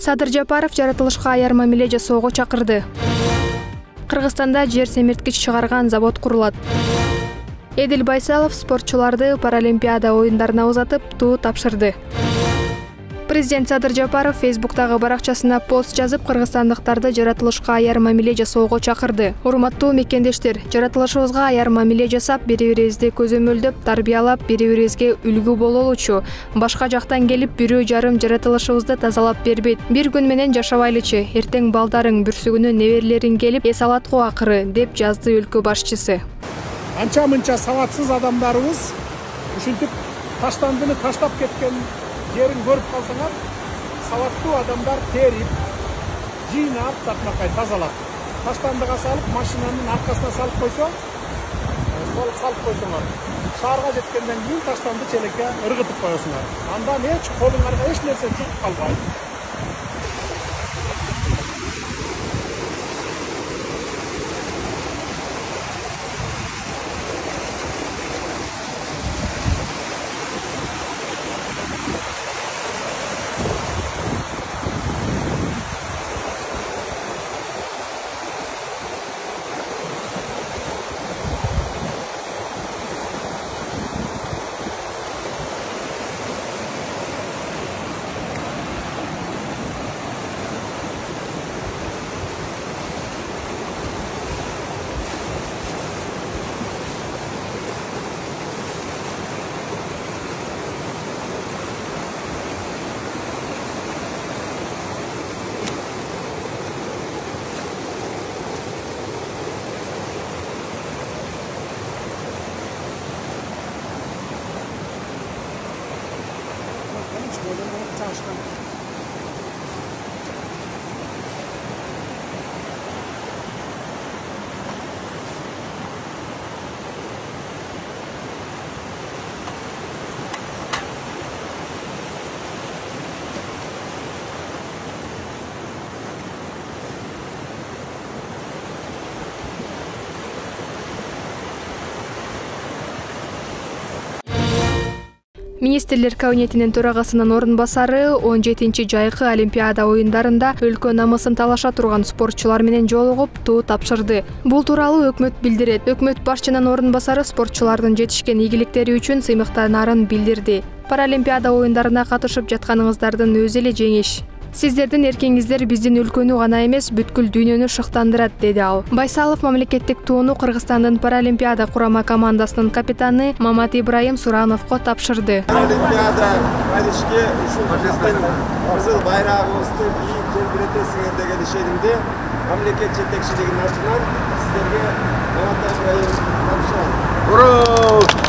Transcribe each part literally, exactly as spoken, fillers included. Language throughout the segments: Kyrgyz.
Садыр Жапаров жаратылышка аяр мамиле жасоого чакырды. Кыргызстанда жер семирткич чыгарган завод курулат. Эдил Байсалов спортчуларды Паралимпиада оюндарына узатып, туу тапшырды. Президент Садыр Жапаров Фейсбуктагы баракчасына пост жазып, кыргызстандыктарды жаратылышка аяр мамиле жасоого чакырды. Урматтуу мекендештер, жаратылышыбызга аяр мамиле жасап, бири-бирибизди көзөмөлдөп, тарбиялап, бири-бирибизге үлгү бололучу. Башка жактан келип, бирөө жарым жаратылышыбызды тазалап бербейт. Бир күн менен жашабайлычы, эртең балдарың, бүрсүгүнө неберелериң келип, эс алат го акыры, деп жазды өлкө башчысы. Анча-мынча саватсыз адамдарыбыз ушинтип таштандыны таштап кеткен жерин көрүп калсаңар, саваттуу адамдар терип, жыйнап, такмакай тазалап, таштандыга салып, машинанын аркасына салып койсо, сол салып койсоңар, шаарга жеткенден кийин таштанды челекке ыргытып коесуңар. Андан эч колуңарга эч нерсе чыгып калбайт. Министрлер кабинетинин төрагасынын орун басары он жетинчи жайкы Олимпиада оюндарында өлкө намысын талаша турган спортчулар менен жолугуп, туу тапшырды. Бул тууралуу өкмөт билдирет. Өкмөт башчынын орун басары спортчулардын жетишкен ийгиликтери үчүн сыймыктанаарын билдирди. Паралимпиада оюндарына катышып жатканыңыздардын өзү эле жеңиш. Сиздердин эркиңиздер биздин өлкөнү гана эмес, бүткүл дүйнөнү шыктандырат, деди ал. Байсалов мамлекеттик тууну Кыргызстандын Паралимпиада курама командасынын капитаны Мамат Ибраим Сурановго тапшырды. Паралимпиада кайрышке ушул кызыл байрагыбызды бийик желбиретесиңер деген ишенимде мамлекет жетекчилигинин атынан сиздерге Мамат Ибраим тапшырат.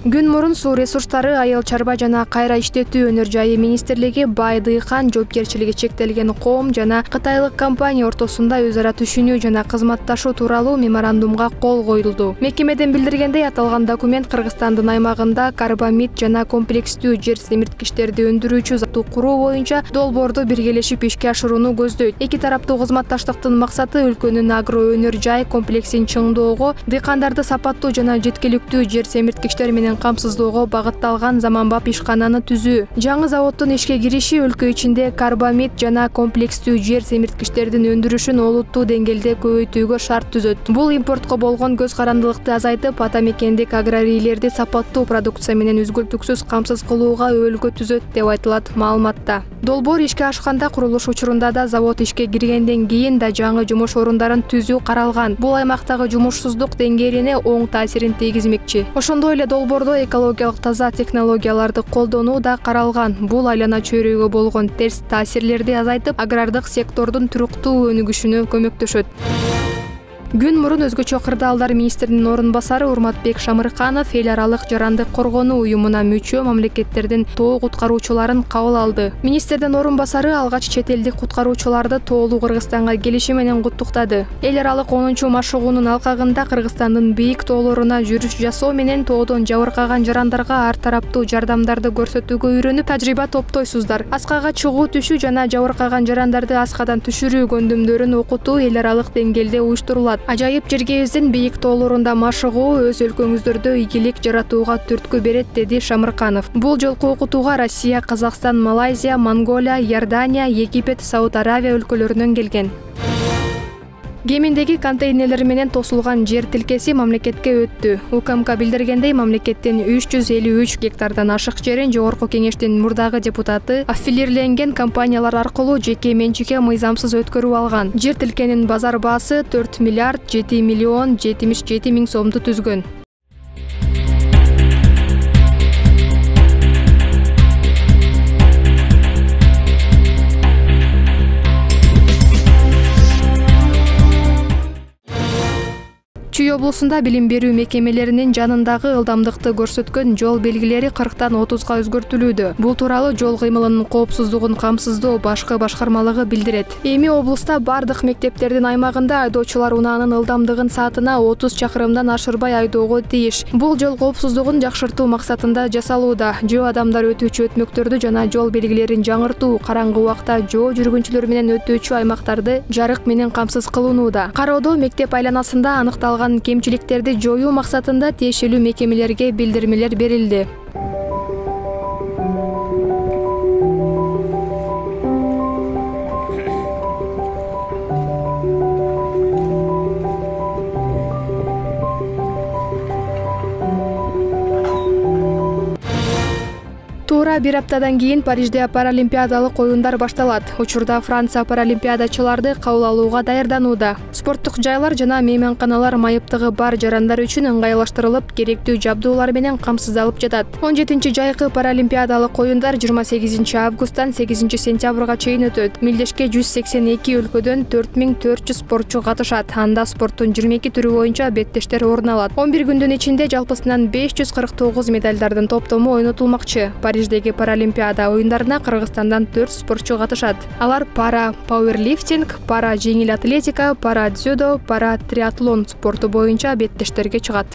Күн мурун суу ресурстары, айыл чарба жана кайра иштетүү өнөр жайы министрлиги Бай Дыйкан жоопкерчилиги чектелген коом жана кытайлык компания ортосунда өз ара түшүнүү жана кызматташуу тууралуу меморандумга кол коюлду. Мекемеден билдиргендей, аталган документ Кыргызстандын аймагында карбамид жана комплекстүү жер семирткичтерди өндүрүүчү завод куруу боюнча долбоорду биргелешип ишке ашырууну көздөйт. Эки тараптуу кызматташтыктын максаты өлкөнүн агро өнөр жай комплексин чыңдоого, дыйкандарды сапаттуу жана жеткиликтүү жер семирткичтер менен камсыздоого багытталган заманбап ишкананы түзүү. Жаңы заводдун ишке кириши өлкө ичинде карбамид жана комплекстүү жер семирткичтердин өндүрүшүн олуттуу деңгээлде көбөйтүүгө шарт түзөт. Бул импортко болгон көз карандылыкты азайтып, ата мекендик аграрийлерди сапаттуу продукция менен үзгүлтүксүз камсыз кылууга өбөлгө түзөт, деп айтылат маалыматта. Долбоор ишке ашканда курулуш учурунда да завод ишке киргенден кийин да жаңы жумуш орундарын түзүү каралган. Бул аймактагы жумушсуздук деңгээлине оң таасирин тийгизмекчи. Ошондой эле долбоордо экологиялык таза технологияларды колдонуу да каралган. Бул айлана чөйрөгө болгон терс таасирлерди азайтып, агрардык сектордун туруктуу өнүгүшүнө көмөктөшөт. Күн мурун өзгөчө кырдаалдар министринин орун басары Урматбек Шамырканов эл аралык жарандык коргонуу уюмуна мүчө мамлекеттердин тоо куткаруучуларын кабыл алды. Министрдин орун басары алгач чет элдик куткаруучуларды тоолуу Кыргызстанга келиши менен куттуктады. Эл аралык онунчу машыгуунун алкагында Кыргызстандын бийик тоолоруна жүрүш жасоо менен тоодон жабыркаган жарандарга ар тараптуу жардамдарды көрсөтүүгө үйрөнүп, тажрыйба топтойсуздар. Аскага чыгуу түшүү жана жабыркаган жарандарды аскадан түшүрүү көндүмдөрүн окутуу эл аралык деңгээлде уюштурулат. Ажайып жергебиздин бийик тоолорунда машыгуу өз өлкөңүздөрдө ийгилик жаратууга түрткү берет, деди Шамырканов. Бул жолку окутууга Россия, Казакстан, Малайзия, Монголия, Иордания, Египет, Сауд Аравия өлкөлөрүнөн келген. Кеминдеги контейнерлер менен тосулган жер тилкеси мамлекетке өттү. УКМК билдиргендей, мамлекеттин үч жүз элүү үч гектардан ашык жерин Жогорку Кеңештин мурдагы депутаты аффилирленген компаниялар аркылуу жеке менчикке мыйзамсыз өткөрүп алган. Жер тилкенин базар баасы төрт миллиард жети миллион жетимиш жети миң сомду түзгөн. Чүй облусунда билим берүү мекемелеринин жанындагы ылдамдыкты көрсөткөн жол белгилери кырктан отузга өзгөртүлүүдө. Бул тууралуу жол кыймылынын коопсуздугун камсыздоо башкы башкармалыгы билдирет. Эми облуста бардык мектептердин аймагында айдоочулар унаанын ылдамдыгын саатына отуз чакырымдан ашырбай айдоого тийиш. Бул жол коопсуздугун жакшыртуу максатында жасалууда. Жөө адамдар өтүүчү өтмөктөрдү жана жол белгилерин жаңыртуу, караңгы убакта жөө жүргүнчүлөр менен өтүүчү аймактарды жарык менен камсыз кылынууда. Кароодо мектеп айланасында аныкталган кемчиликтерди жоюу максатында тиешелүү мекемелерге билдирмелер берилди. Туура бир аптадан кийин Парижде паралимпиадалык оюндар башталат. Учурда Франция паралимпиадачыларды кабыл алууга даярданууда. Спорттук жайлар жана мейманканалар майыптыгы бар жарандар үчүн ыңгайлаштырылып, керектүү жабдуулар менен камсыздалып жатат. он жетинчи жайкы паралимпиадалык оюндар жыйырма сегизинчи августтан сегизинчи сентябрга чейин өтөт. Милдешке жүз сексен эки өлкөдөн төрт миң төрт жүз спортчу катышат. Анда спорттун жыйырма эки түрү боюнча беттештер орун алат. он бир күндүн ичинде жалпысынан беш жүз кырк тогуз медалдардын топтому ойнотулмакчы. Париждеги паралимпиада оюндарына Кыргызстандан төрт спортчу катышат. Алар пара пауэрлифтинг, пара жеңил атлетика, пара дзюдо, пара триатлон спорту боюнча беттештерге чыгат.